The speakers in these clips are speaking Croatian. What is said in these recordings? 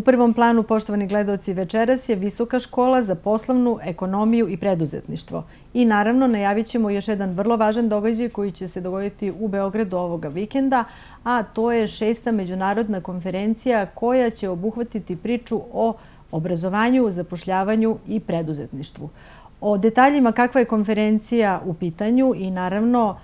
U prvom planu, poštovani gledaoci, večeras je Visoka škola za poslovnu ekonomiju i preduzetništvo. I naravno najavit ćemo još jedan vrlo važan događaj koji će se dogoditi u Beogradu ovoga vikenda, a to je 6. međunarodna konferencija koja će obuhvatiti priču o obrazovanju, zapošljavanju i preduzetništvu. O detaljima kakva je konferencija u pitanju i naravno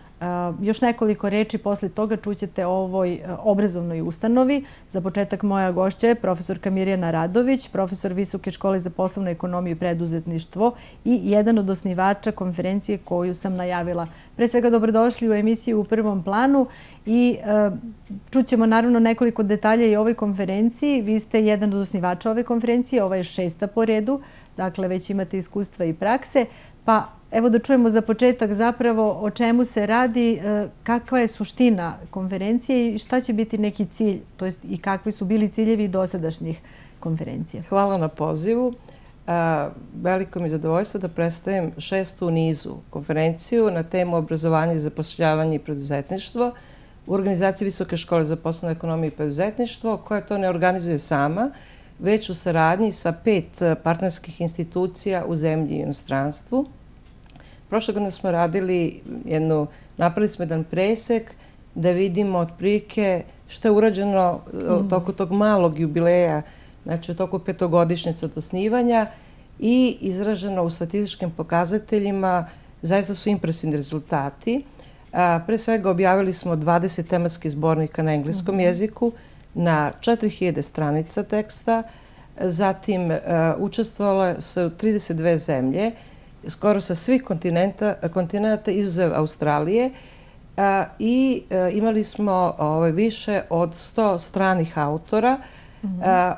još nekoliko reči posle toga čućete o ovoj obrazovnoj ustanovi. Za početak moja gošća je profesorka Mirjana Radović, profesor Visoke škole za poslovnu ekonomiju i preduzetništvo i jedan od osnivača konferencije koju sam najavila. Pre svega dobrodošli u emisiju U prvom planu i čućemo naravno nekoliko detalja i o ovoj konferenciji. Vi ste jedan od osnivača ove konferencije, ova je 6. po redu, dakle već imate iskustva i prakse. Pa evo da čujemo za početak zapravo o čemu se radi, kakva je suština konferencije i šta će biti neki cilj, to jest i kakvi su bili ciljevi dosadašnjih konferencija. Hvala na pozivu. Veliko mi je zadovoljstvo da predstavim 6. u nizu konferenciju na temu obrazovanja i zapošljavanja i preduzetništvo u organizaciji Visoke škole za poslovnu ekonomiju i preduzetništvo, koja to ne organizuje sama, već u saradnji sa 5 partnerskih institucija u zemlji i inostranstvu. Prošle godine smo napravili smo jedan presek da vidimo otprilike što je urađeno u toku tog malog jubileja, znači u toku 5-godišnjice od osnivanja i izraženo u statističkim pokazateljima zaista su impresivni rezultati. Pre svega objavili smo 20 tematskih zbornika na engleskom jeziku, na 4000 stranica teksta, zatim učestvovalo se u 32 zemlje, skoro sa svih kontinenta izuzev Australije i imali smo više od 100 stranih autora.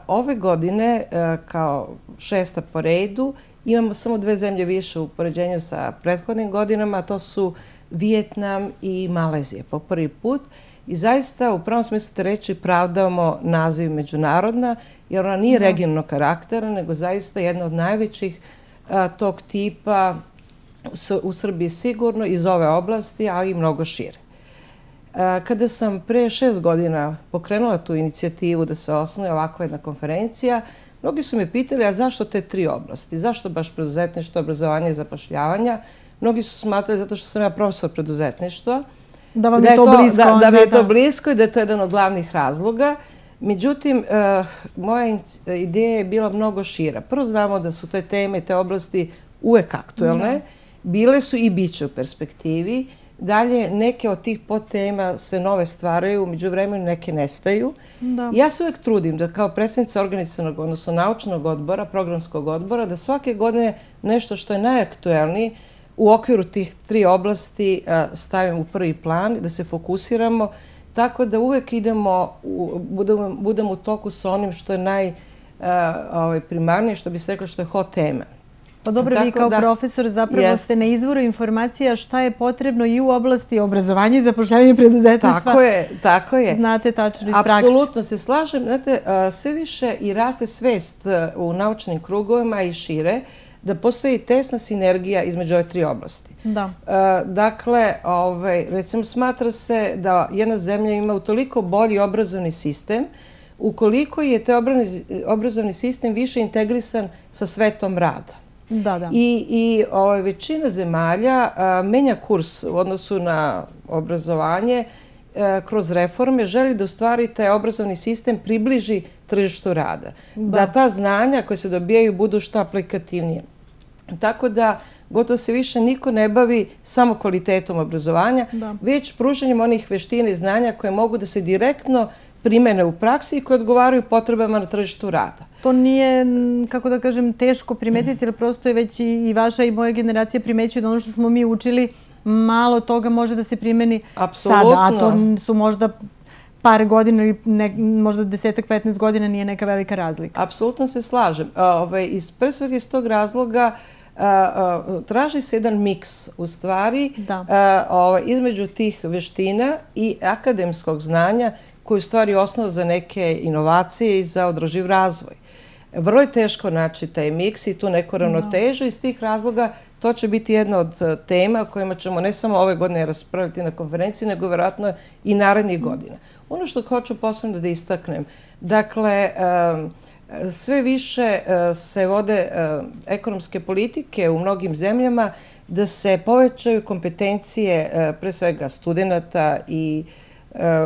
Ove godine, kao 6. po redu, imamo samo 2 zemlje više u poređenju sa prethodnim godinama, to su Vijetnam i Malezija po prvi put. I zaista u pravom smislu te reči pravdamo naziv međunarodna, jer ona nije regionalnog karaktera, nego zaista jedna od najvećih tog tipa u Srbiji sigurno iz ove oblasti, ali i mnogo šire. Kada sam pre 6 godina pokrenula tu inicijativu da se osnuje ovakva jedna konferencija, mnogi su me pitali, a zašto te 3 oblasti? Zašto baš preduzetništvo, obrazovanje i zapošljavanja? Mnogi su smatrali zato što sam ja profesor preduzetništva, da vam je to blisko. Da mi je to blisko i da je to jedan od glavnih razloga. Međutim, moja ideja je bila mnogo šira. Prvo znamo da su te teme i te oblasti uvek aktuelne. Bile su i bit će u perspektivi. Dalje, neke od tih podtema se nove stvaraju, među vremenu neke nestaju. Ja se uvek trudim da kao predsjednica organizacionog, odnosno naučnog odbora, programskog odbora, da svake godine nešto što je najaktuelnije u okviru tih 3 oblasti stavim u prvi plan, da se fokusiramo, tako da uvek budemo u toku sa onim što je najprimarnije, što bi se reklo što je hot tema. Pa dobro, vi kao profesor zapravo ste na izvoru informacija šta je potrebno i u oblasti obrazovanja i zapošljavanja preduzetništva. Tako je. Znate tačno iz prakse. Apsolutno se slažem. Znate, sve više i raste svest u naučnim krugovima i šire da postoji tesna sinergija između ove 3 oblasti. Dakle, recimo smatra se da jedna zemlja ima utoliko bolji obrazovni sistem ukoliko je taj obrazovni sistem više integrisan sa svetom rada. I većina zemalja menja kurs u odnosu na obrazovanje kroz reforme, želi da u stvari taj obrazovni sistem približi tržištu rada. Da ta znanja koje se dobijaju budu što aplikativnije. Tako da gotovo se više niko ne bavi samo kvalitetom obrazovanja, već pružanjem onih veština i znanja koje mogu da se direktno primene u praksi i koje odgovaraju potrebama na tržištu rada. To nije, kako da kažem, teško primetiti, jer prosto je već i vaša i moja generacija primećuju da ono što smo mi učili, malo toga može da se primeni sada, a to su možda par godina ili možda 10-15 godina nije neka velika razlika. Apsolutno se slažem. Pre svega iz tog razloga traži se jedan miks u stvari između tih veština i akademskog znanja koji je u stvari osnov za neke inovacije i za održiv razvoj. Vrlo je teško naći taj miks i tu neku ravnotežu. Iz tih razloga to će biti jedna od tema o kojima ćemo ne samo ove godine raspraviti na konferenciji, nego vjerojatno i narednih godina. Ono što hoću posebno da istaknem, dakle, sve više se vode ekonomske politike u mnogim zemljama da se povećaju kompetencije pre svega studenta i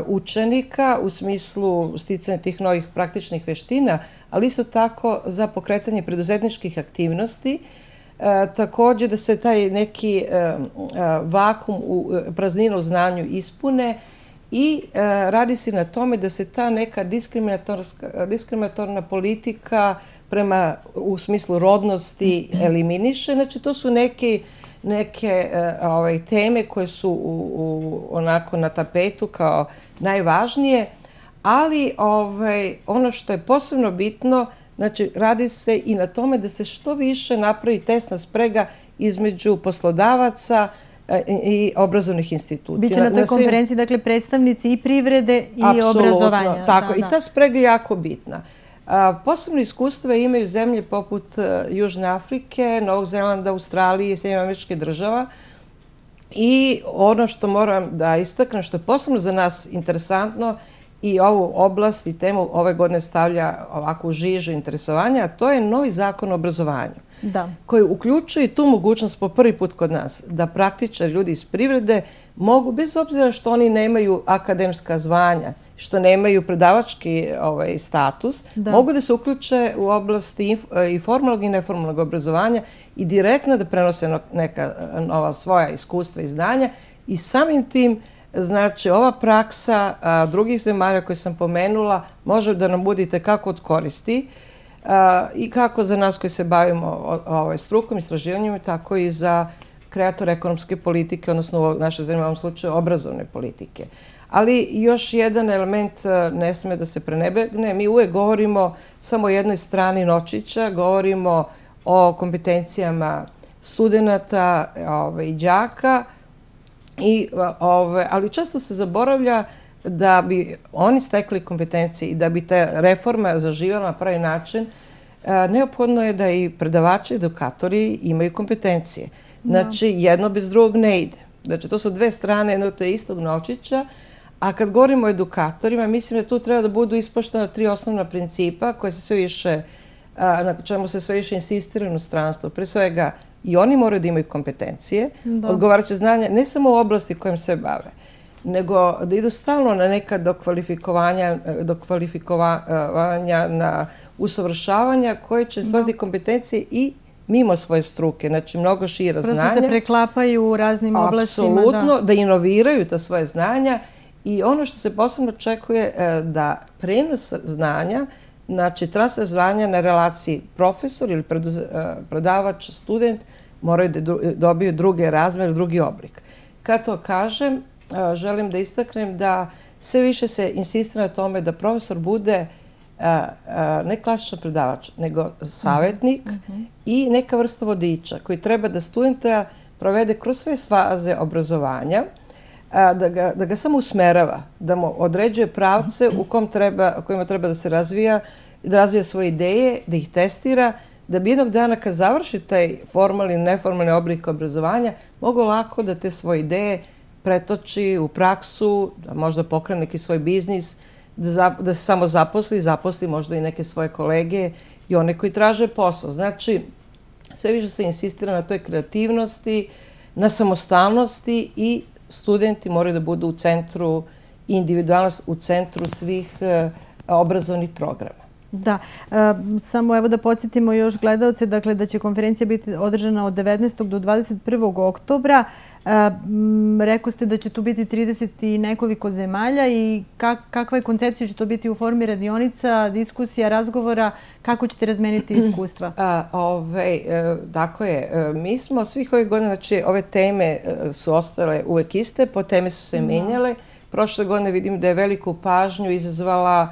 učenika u smislu sticanja tih novih praktičnih veština, ali isto tako za pokretanje preduzetničkih aktivnosti. Također da se taj neki vakum, praznina u znanju ispune i radi se na tome da se ta neka diskriminatorna politika prema u smislu rodnosti eliminiše. Znači, to su neke teme koje su onako na tapetu kao najvažnije, ali ono što je posebno bitno, znači radi se i na tome da se što više napravi tesna sprega između poslodavaca i obrazovnih institucija. Biće na toj konferenciji, dakle, predstavnici i privrede i obrazovanja. Apsolutno, tako. I ta sprega je jako bitna. Posebno iskustva imaju zemlje poput Južne Afrike, Novog Zelanda, Australije i Sjedinjenih Američkih Država. I ono što moram da istaknem, što je posebno za nas interesantno i ovu oblast i temu ove godine stavlja ovako u žižu interesovanja, a to je novi zakon o obrazovanju. Koji uključuje tu mogućnost po prvi put kod nas da praktičari, ljudi iz privrede mogu, bez obzira što oni nemaju akademska zvanja, što nemaju predavački status, mogu da se uključe u oblasti i formalnog i neformalnog obrazovanja i direktno da prenose neka nova svoja iskustva i znanja i samim tim, znači, ova praksa drugih zemalja koje sam pomenula može da nam bude itekako od koristi i kako za nas koji se bavimo strukom, istraživanjem, tako i za kreatore ekonomske politike, odnosno u našoj zemlji, u ovom slučaju obrazovne politike. Ali još jedan element ne sme da se prenebegne. Mi uvek govorimo samo o jednoj strani novčića, govorimo o kompetencijama studenta i đaka, ali često se zaboravlja da bi oni stekli kompetencije i da bi ta reforma zaživjela na pravi način, neophodno je da i predavači, edukatori imaju kompetencije. Znači, jedno bez drugog ne ide. Znači, to su dve strane jednog te istog novčića, a kad govorimo o edukatorima, mislim da tu treba da budu ispoštovana 3 osnovna principa koje se sve više, na čemu se sve više insistira u inostranstvu. Pre svega, i oni moraju da imaju kompetencije, odgovarajuće znanja, ne samo u oblasti kojim se bave, nego da idu stalno na neka dokvalifikovanja, na usavršavanja koje će stvoriti kompetencije i mimo svoje struke, znači mnogo šira znanja. Prosto se preklapaju u raznim oblastima. Apsolutno, da inoviraju ta svoje znanja i ono što se posebno očekuje da prenos znanja, znači transfer znanja na relaciji profesor ili predavač, student, moraju da dobiju druge razmere, drugi oblik. Kad to kažem, želim da istaknem da sve više se insistira na tome da profesor bude ne klasičan predavač, nego savjetnik i neka vrsta vodiča koji treba da studenta provede kroz sve faze obrazovanja, da ga samo usmerava, da mu određuje pravce u kojima treba da se razvija, da razvija svoje ideje, da ih testira, da bi jednog dana kad završi taj formalni i neformalni oblik obrazovanja, mogu lako da te svoje ideje pretoči u praksu, da možda pokrene neki svoj biznis, da se samo zaposli možda i neke svoje kolege i one koji traže posao. Znači, sve više se insistira na toj kreativnosti, na samostalnosti i studenti moraju da budu u centru, individualnost u centru svih obrazovnih programa. Da, samo evo da podsjetimo još gledalce, dakle da će konferencija biti održana od 19. do 21. oktobra. Rekao ste da će tu biti 30 i nekoliko zemalja i kakva je koncepcija, će to biti u formi radionica, diskusija, razgovora, kako ćete razmeniti iskustva? Tako je. Mi smo svih ovih godina, znači ove teme su ostale uvek iste, po teme su se menjale. Prošle godine vidim da je veliku pažnju izazvao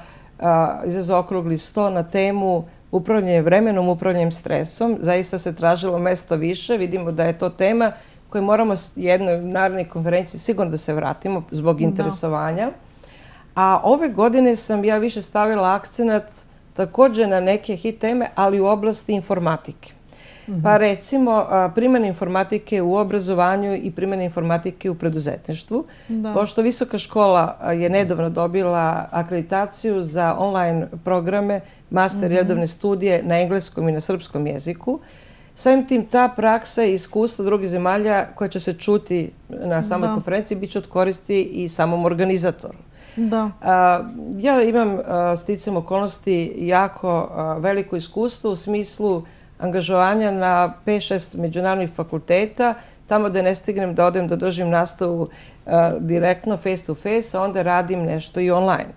okrugli sto na temu upravljanje vremenom, upravljanjem stresom. Zaista se tražilo mesto više. Vidimo da je to tema koju moramo jednoj narednoj konferenciji sigurno da se vratimo zbog interesovanja. A ove godine sam ja više stavila akcenat također na neke hit teme, ali u oblasti informatike. Pa recimo primjena informatike u obrazovanju i primjena informatike u preduzetništvu. Pošto visoka škola je nedavno dobila akreditaciju za online programe, master i redovne studije na engleskom i na srpskom jeziku, samim tim ta praksa i iskustva drugih zemalja koja će se čuti na samoj konferenciji bit će od koristi i samom organizatoru. Ja imam sticam okolnosti jako veliko iskustvo u smislu angažovanja na 5-6 međunarodnih fakulteta, tamo da ne stignem da odem da držim nastavu direktno face to face, a onda radim nešto i online.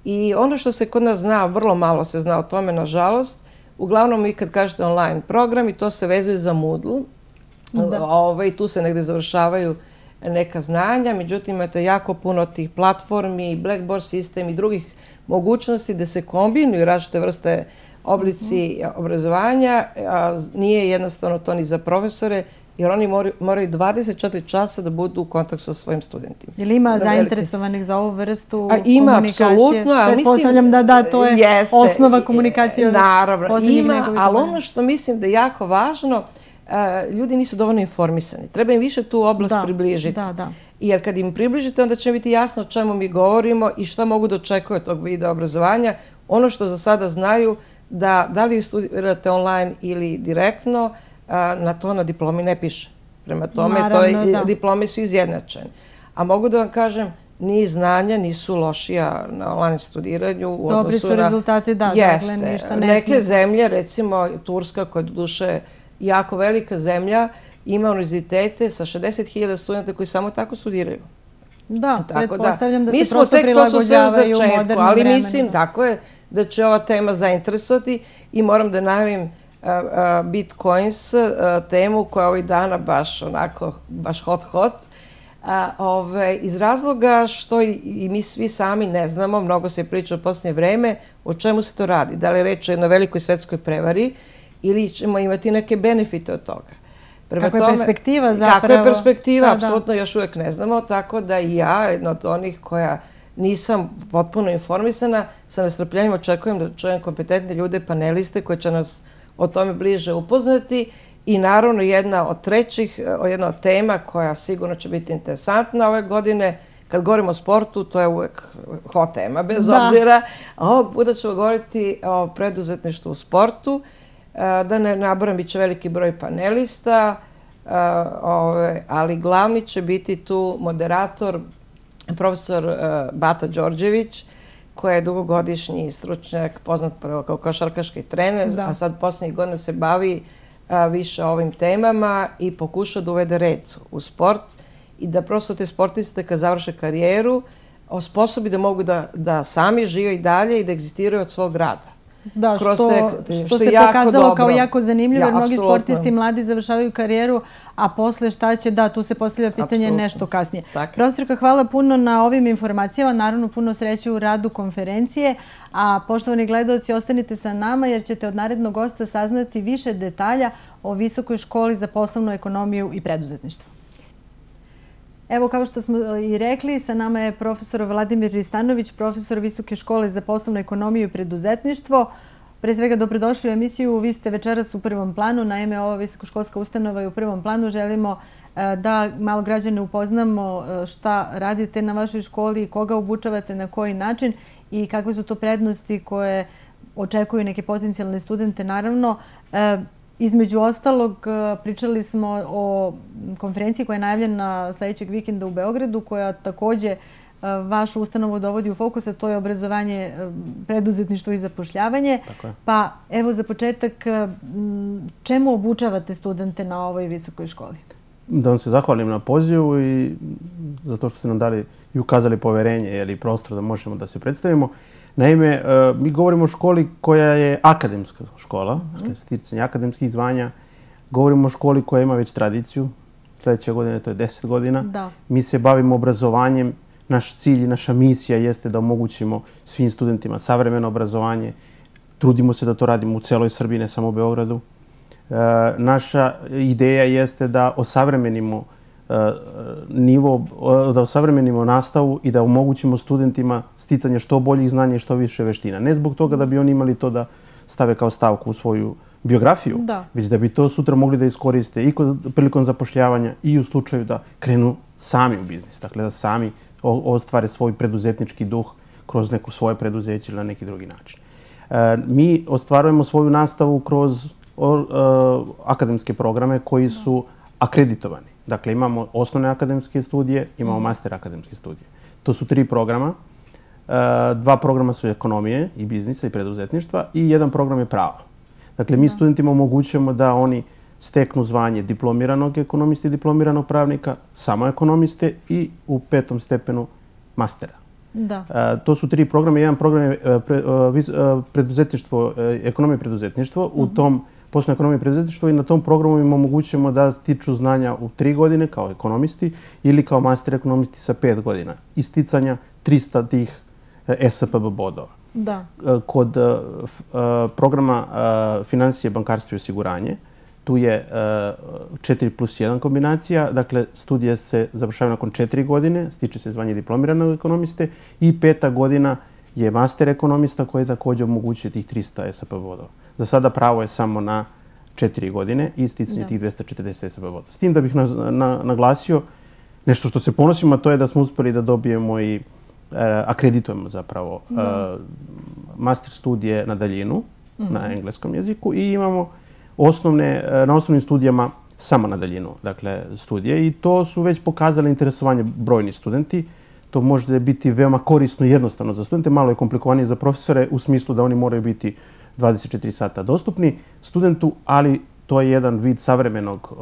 I ono što se kod nas zna, vrlo malo se zna o tome, nažalost, uglavnom vi kad kažete online program i to se vezuje za Moodle, i tu se negde završavaju neka znanja, međutim imate jako puno tih platformi, Blackboard sistem i drugih mogućnosti da se kombinuju različite vrste oblici obrazovanja. Nije jednostavno to ni za profesore, jer oni moraju 24 časa da budu u kontaktu sa svojim studentima. Je li ima zainteresovanih za ovu vrstu komunikacije? Ima, apsolutno. Pretpostavljam da to je osnova komunikacije. Naravno, ima, ali ono što mislim da je jako važno, ljudi nisu dovoljno informisani. Treba im više tu oblast približiti. Jer kad im približite, onda će biti jasno o čemu mi govorimo i šta mogu da očekuju od tog videa obrazovanja. Ono što za sada znaju, da li studirate online ili direktno, na to na diplomi ne piše. Prema tome, diplome su izjednačene. A mogu da vam kažem, ni znanja nisu lošija na online studiranju u odnosu na... Dobri su rezultati, da, dakle, ništa ne... Neke zemlje, recimo Turska, koja je duše jako velika zemlja, ima univerzitete sa 60.000 studenta koji samo tako studiraju. Da, pretpostavljam da se prosto prilagođavaju modernom vremenu. Ali mislim, tako je, da će ova tema zainteresovati i moram da najavim Bitcoins temu koja je ovih dana baš hot. Iz razloga što i mi svi sami ne znamo, mnogo se priča u posljednje vreme, o čemu se to radi. Da li je reč o jednoj velikoj svetskoj prevari ili ćemo imati neke benefite od toga. Kako je perspektiva zapravo? Kako je perspektiva, apsolutno još uvijek ne znamo, tako da i ja, jedna od onih koja nisam potpuno informisana, sa nestrpljenjem očekujem da čujem kompetentne ljude, paneliste koji će nas o tome bliže upoznati i naravno jedna od tema koja sigurno će biti interesantna ove godine. Kad govorimo o sportu, to je uvek hot tema, bez obzira. Ovog puta ćemo govoriti o preduzetništvu u sportu. Da ne naboram, bit će veliki broj panelista, ali glavni će biti tu moderator, profesor Bata Đorđević, koji je dugogodišnji stručnjak, poznat prvo kao košarkaški trener, a sad posljednjih godina se bavi više ovim temama i pokuša da uvede red u sport i da prosto te sportiste kad završe karijeru osposobi da mogu da sami žive i dalje i da egzistiraju od svog rada. Da, što se pokazalo kao jako zanimljivo, jer mnogi sportisti mladi završavaju karijeru, a posle šta će, da, tu se postavlja pitanje nešto kasnije. Profesorka, hvala puno na ovim informacijama, naravno puno sreće u radu konferencije, a poštovani gledaoci, ostanite sa nama jer ćete od narednog gosta saznati više detalja o Visokoj školi za poslovnu ekonomiju i preduzetništvo. Evo, kao što smo i rekli, sa nama je profesor Vladimir Ristanović, profesor Visoke škole za poslovnu ekonomiju i preduzetništvo. Pre svega, dobrodošli u emisiju. Vi ste večeras u prvom planu. Naime, ova visokoškolska ustanova je u prvom planu. Želimo da malo građane upoznamo šta radite na vašoj školi, koga obučavate, na koji način i kakve su to prednosti koje očekuju neke potencijalne studente. Naravno, između ostalog, pričali smo o konferenciji koja je najavljena sljedećeg vikenda u Beogradu, koja također vašu ustanovu dovodi u fokus, a to je obrazovanje, preduzetništvo i zapošljavanje. Pa evo za početak, čemu obučavate studente na ovoj visokoj školi? Da vam se zahvalim na pozivu i zato što ste nam dali i ukazali poverenje ili prostor da možemo da se predstavimo. Naime, mi govorimo o školi koja je akademska škola, sticanje akademskih zvanja. Govorimo o školi koja ima već tradiciju. Sljedeće godine to je 10 godina. Mi se bavimo obrazovanjem. Naš cilj i naša misija jeste da omogućimo svim studentima savremeno obrazovanje. Trudimo se da to radimo u celoj Srbiji, ne samo u Beogradu. Naša ideja jeste da osavremenimo nastavu i da omogućimo studentima sticanje što boljih znanja i što više veština. Ne zbog toga da bi oni imali to da stave kao stavku u svoju biografiju, već da bi to sutra mogli da iskoriste i prilikom zapošljavanja i u slučaju da krenu sami u biznis. Dakle, da sami ostvare svoj preduzetnički duh kroz neko svoje preduzeće ili na neki drugi način. Mi ostvarujemo svoju nastavu kroz akademske programe koji su akreditovani. Dakle, imamo osnovne akademske studije, imamo master akademske studije. To su 3 programa. 2 programa su ekonomije i biznisa i preduzetništva i 1 program je pravo. Dakle, mi studentima omogućujemo da oni steknu zvanje diplomiranog ekonomiste i diplomiranog pravnika, samo ekonomiste i u 5. stepenu mastera. To su 3 programa. Jedan program je preduzetništvo, ekonomija i preduzetništvo. U tom poslovnoj ekonomiji i preduzetništvo i na tom programu im omogućujemo da stiču znanja u 3 godine kao ekonomisti ili kao master ekonomisti sa 5 godina. I sticanja 300 tih SPB bodova. Kod programa finansije, bankarstvo i osiguranje, tu je 4+1 kombinacija. Dakle, studije se završavaju nakon 4 godine, stiče se zvanje diplomiranog ekonomiste i 5. godina je master ekonomista koji također omogućuje tih 300 SPB bodova. Za sada pravo je samo na 4 godine i sticanje tih 240 SPB bodova. S tim da bih naglasio nešto što se ponosimo, a to je da smo uspjeli da dobijemo i akreditujemo zapravo master studije na daljinu, na engleskom jeziku i imamo na osnovnim studijama samo na daljinu, dakle, studije i to su već pokazali interesovanje brojni studenti. To može biti veoma korisno i jednostavno za studente, malo je komplikovanije za profesore u smislu da oni moraju biti 24 sata dostupni studentu, ali to je jedan vid savremenog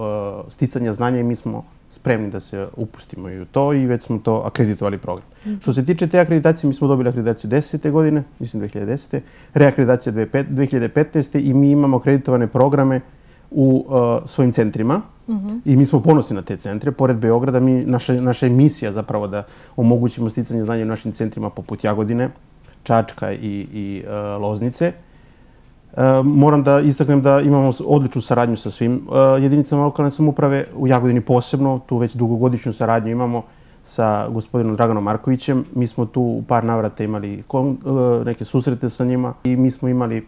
sticanja znanja i mi smo spremni da se upustimo i u to i već smo to akreditovali program. Što se tiče te akreditacije, mi smo dobili akreditaciju 10. godine, mislim 2010. Reakreditacija 2015. i mi imamo akreditovane programe u svojim centrima i mi smo ponosni na te centre. Pored Beograda, naša je misija zapravo da omogućimo sticanje znanja u našim centrima poput Jagodine, Čačka i Loznice. Moram da istaknem da imamo odličnu saradnju sa svim jedinicama lokalne samouprave, u Jagodini posebno, tu već dugogodišnju saradnju imamo sa gospodinom Draganom Markovićem. Mi smo tu u par navrata imali neke susrete sa njima i mi smo imali,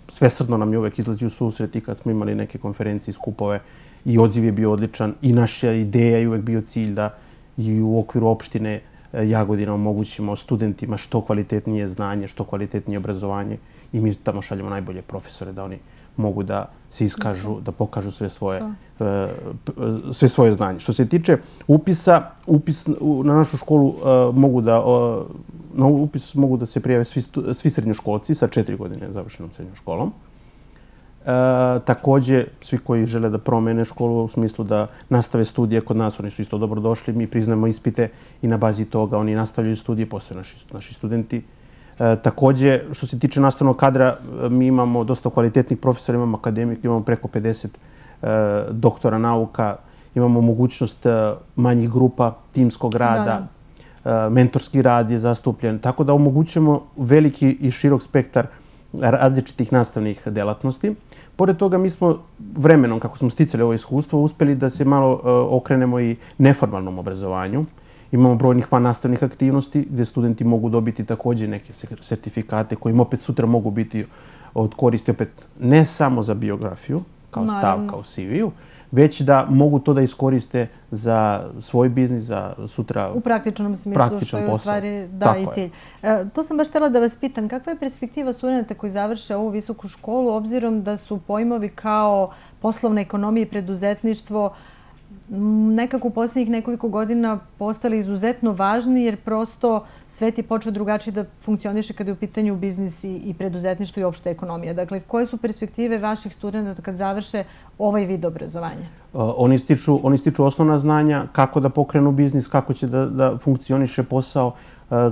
svesrdno nam je uvek izlazi u susret i kad smo imali neke konferencije i skupove i odziv je bio odličan i naša ideja je uvek bio cilj da i u okviru opštine Jagodina omogućimo studentima što kvalitetnije znanje, što kvalitetnije obrazovanje i mi tamo šaljemo najbolje profesore da oni mogu da se iskažu, da pokažu sve svoje znanje. Što se tiče upisa, na našu školu na upis mogu da se prijave svi srednjoškolci sa 4 godine završenom srednjom školom. Također, svi koji žele da promene školu u smislu da nastave studije kod nas, oni su isto dobro došli. Mi priznajemo ispite i na bazi toga oni nastavljaju studije, postoje naši studenti. Također, što se tiče nastavnog kadra, mi imamo dosta kvalitetnih profesora, imamo akademik, imamo preko 50 doktora nauka, imamo mogućnost manjih grupa, timskog rada, mentorski rad je zastupljen, tako da omogućujemo veliki i širok spektar različitih nastavnih delatnosti. Pored toga, mi smo vremenom, kako smo sticali ovo iskustvo, uspjeli da se malo okrenemo i neformalnom obrazovanju. Imamo brojnih vannastavnih aktivnosti gdje studenti mogu dobiti također neke sertifikate kojim opet sutra mogu biti od koristi opet ne samo za biografiju kao stavka u CV-u, već da mogu to da iskoriste za svoj biznis, za sutra u praktičnom smislu, što je u stvari i cilj. To sam baš htjela da vas pitam, kakva je perspektiva studenta koji završe ovu visoku školu, obzirom da su pojmovi kao poslovna ekonomija i preduzetništvo nekako u posljednjih nekoliko godina postali izuzetno važni jer prosto svet je počeo drugačije da funkcioniše kada je u pitanju biznis i preduzetništvo i opšta ekonomija. Dakle, koje su perspektive vaših studenta kad završe ovaj vid obrazovanja? Oni stiču osnovna znanja kako da pokrenu biznis, kako će da funkcioniše posao,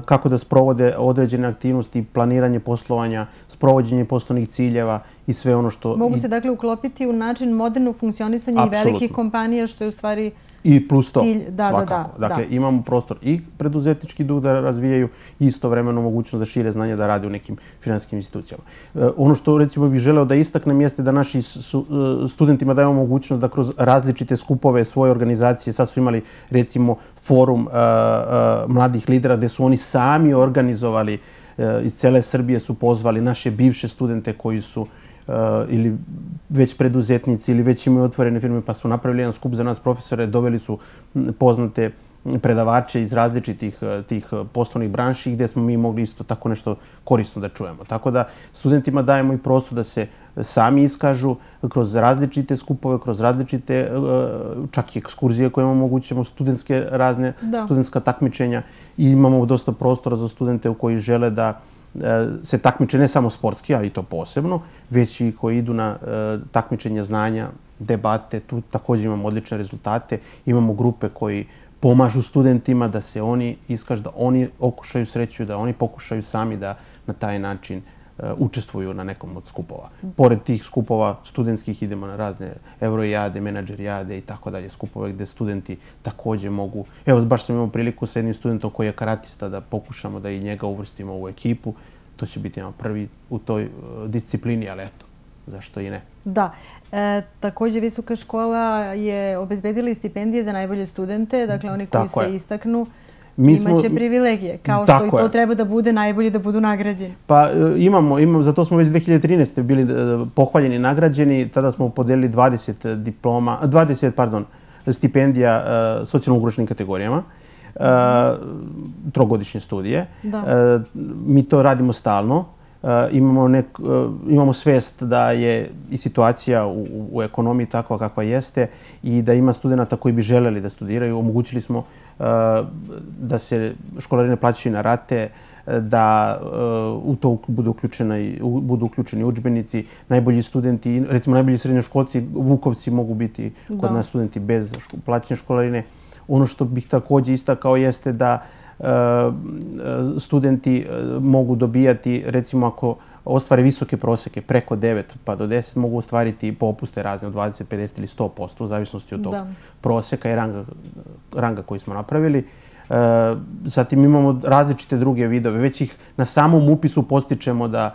kako da sprovode određene aktivnosti, planiranje poslovanja, sprovođenje poslovnih ciljeva i sve ono što... Mogu se dakle uklopiti u način modernog funkcionisanja i velikih kompanija, što je u stvari i plus to, svakako. Dakle, imamo prostor i preduzetnički duh da razvijaju i istovremeno mogućnost za šire znanje da rade u nekim finansijskim institucijama. Ono što recimo bih želeo da istaknem jeste da naši studentima dajemo mogućnost da kroz različite skupove svoje organizacije, sad su imali recimo forum mladih lidera gde su oni sami organizovali, iz cele Srbije su pozvali naše bivše studente koji su ili već preduzetnici ili već imaju otvorene firme pa su napravili jedan skup za nas profesore, doveli su poznate predavače iz različitih tih poslovnih branši gdje smo mi mogli isto tako nešto korisno da čujemo. Tako da studentima dajemo i prostor da se sami iskažu kroz različite skupove, kroz različite čak i ekskurzije koje omogućujemo, studentske razne, studentska takmičenja i imamo dosta prostora za studente koji žele da se takmiče ne samo sportski, ali i to posebno, već i koji idu na takmičenja znanja, debate. Tu također imamo odlične rezultate. Imamo grupe koji pomažu studentima da se oni iskažu, da oni okušaju sreću, da oni pokušaju sami da na taj način učestvuju na nekom od skupova. Pored tih skupova studentskih idemo na razne Eurojade, menadžerijade i tako dalje, skupove gdje studenti također mogu. Evo, baš sam imao priliku sa jednim studentom koji je karatista da pokušamo da i njega uvrstimo u ekipu. To će biti prvi u toj disciplini, ali eto, zašto i ne. Da. Također Visoka škola je obezbedila i stipendije za najbolje studente, dakle oni koji se istaknu imaće privilegije, kao što i to treba da bude najbolji da budu nagrađeni. Pa imamo, zato smo već 2013. bili pohvaljeni i nagrađeni, tada smo podelili 20 stipendija socijalno ugroženim kategorijama, trogodišnje studije. Mi to radimo stalno. Imamo svest da je i situacija u ekonomiji takva kakva jeste i da ima studenta koji bi želeli da studiraju. Omogućili smo da se školarine plaćaju na rate, da u to budu uključeni udžbenici. Najbolji studenti, recimo najbolji srednjoškolci, Vukovci mogu biti kod nas studenti bez plaćanja školarine. Ono što bih također istakao jeste da studenti mogu dobijati, recimo ako ostvare visoke proseke, preko 9 pa do 10, mogu ostvariti popuste razne od 20, 50 ili 100%, u zavisnosti od tog proseka i ranga koji smo napravili. Zatim imamo različite druge vidove. Već ih na samom upisu postičemo da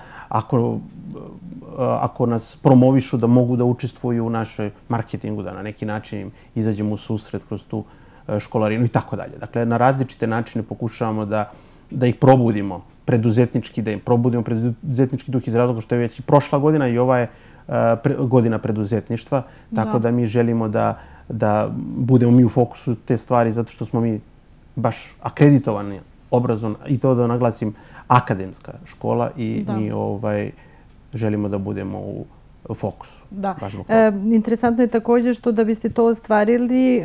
ako nas promovišu da mogu da učestvuju u našoj marketingu, da na neki način im izađemo u susret kroz tu školarinu i tako dalje. Dakle, na različite načine pokušavamo da ih probudimo preduzetnički, da im probudimo preduzetnički duh iz razloga što je već i prošla godina i ova je godina preduzetništva, tako da mi želimo da budemo mi u fokusu te stvari zato što smo mi baš akreditovani, obrazovna i to da naglasim akademska škola i mi želimo da budemo u fokusu. Da. Interesantno je također što da biste to ostvarili,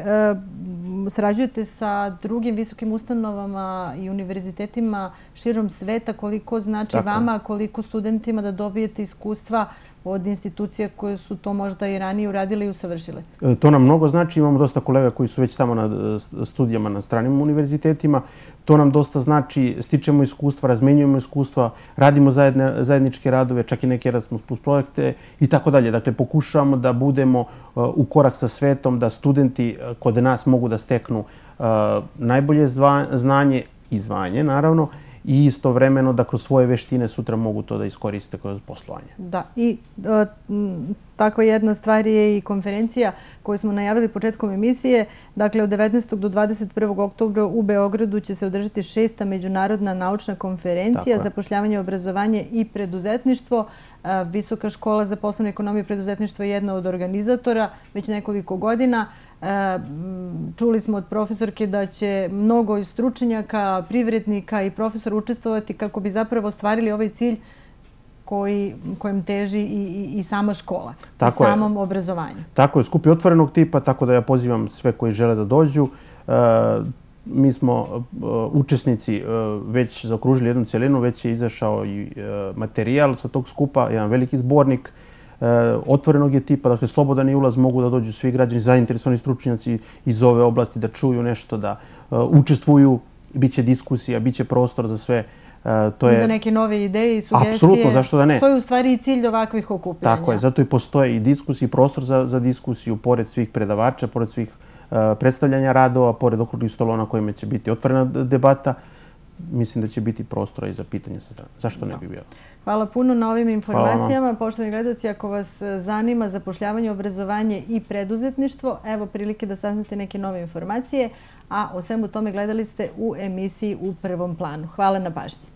sarađujete sa drugim visokim ustanovama i univerzitetima širom sveta. Koliko znači vama, koliko studentima da dobijete iskustva od institucija koje su to možda i ranije uradile i usavršile? To nam mnogo znači. Imamo dosta kolega koji su već tamo na studijama na stranim univerzitetima. To nam dosta znači. Stičemo iskustva, razmenjujemo iskustva, radimo zajedničke radove, čak i neke Erasmus Plus projekte i tako dalje. Dakle, pokušavamo da budemo u korak sa svetom, da studenti kod nas mogu da steknu najbolje znanje i zvanje, naravno, i istovremeno da kroz svoje veštine sutra mogu to da iskoriste kroz poslovanje. Da, i takva jedna stvar je i konferencija koju smo najavili početkom emisije. Dakle, od 19. do 21. oktobra u Beogradu će se održati 6. međunarodna naučna konferencija Zapošljavanje, obrazovanje i preduzetništvo. Visoka škola za poslovnu ekonomiju i preduzetništvo je jedna od organizatora već nekoliko godina. Čuli smo od profesorke da će mnogo stručnjaka, privrednika i profesora učestvovati kako bi zapravo ostvarili ovaj cilj kojem teži i sama škola, u samom obrazovanju. Tako je, skup je otvorenog tipa, tako da ja pozivam sve koji žele da dođu. Mi smo učesnici već zaokružili jednu celinu, već je izašao i materijal sa tog skupa, jedan veliki zbornik otvorenog je tipa, dakle slobodan je ulaz, mogu da dođu svi građani, zainteresovani stručnjaci iz ove oblasti da čuju nešto, da učestvuju, bit će diskusija, bit će prostor za sve. I za neke nove ideje i sugestije. Apsolutno, zašto da ne? To je u stvari i cilj ovakvih okupljanja. Tako je, zato i postoje i diskusije, i prostor za diskusiju, pored svih predavača, pored svih predstavljanja radova, pored okruglih stolova na kojima će biti otvorena debata. Mislim da će biti prostora i za pitanje sa strane. Zašto ne bi bilo? Hvala puno na ovim informacijama. Poštovani gledalci, ako vas zanima zapošljavanje, obrazovanje i preduzetništvo, evo prilike da saznate neke nove informacije, a o svemu tome gledali ste u emisiji U prvom planu. Hvala na pažnji.